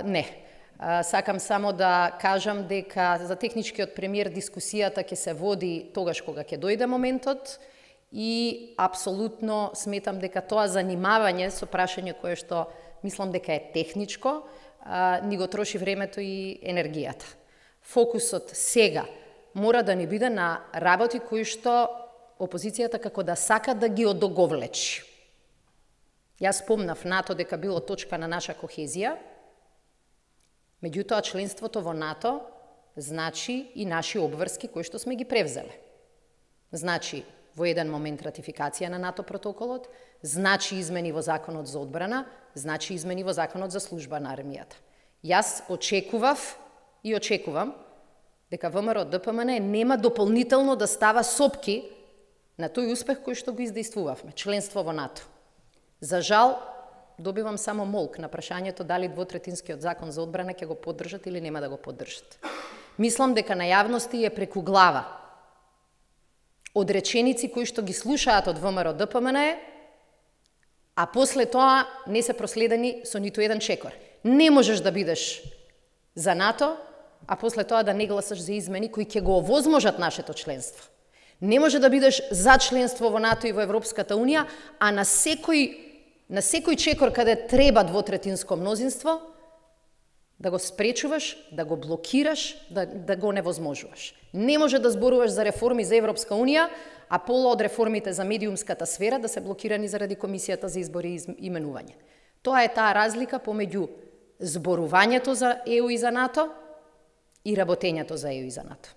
Не. Сакам само да кажам дека за техничкиот премиер дискусијата ќе се води тогаш кога ќе дојде моментот и апсолутно сметам дека тоа занимавање со прашање кое што мислам дека е техничко, ни го троши времето и енергијата. Фокусот сега мора да ни биде на работи кои што опозицијата како да сака да ги одоговлечи. Јас спомнав НАТО дека било точка на наша кохезија, меѓутоа членството во НАТО значи и наши обврски кои што сме ги превзеле. Значи во еден момент ратификација на НАТО протоколот, значи измени во Законот за одбрана, значи измени во Законот за служба на армијата. Јас очекував и очекувам дека ВМРО ДПМН нема дополнително да става сопки на тој успех кој што го издействувавме, членство во НАТО. За жал, добивам само молк на прашањето дали двотретинскиот закон за одбрана ќе го поддржат или нема да го поддржат. Мислам дека на јавности е преку глава од реченици кои што ги слушаат од ВМРО ДПМН, а после тоа не се проследени со ниту еден чекор. Не можеш да бидеш за НАТО, а после тоа да не гласаш за измени кои ќе го овозможат нашето членство. Не може да бидеш за членство во НАТО и во Европската Унија, а на секој чекор каде треба двотретинско мнозинство, да го спречуваш, да го блокираш, да го невозможуваш. Не може да зборуваш за реформи за Европска Унија, а пола од реформите за медиумската сфера да се блокирани заради Комисијата за избори и именување. Тоа е таа разлика помеѓу зборувањето за ЕУ и за НАТО и работењето за ЕУ и за НАТО.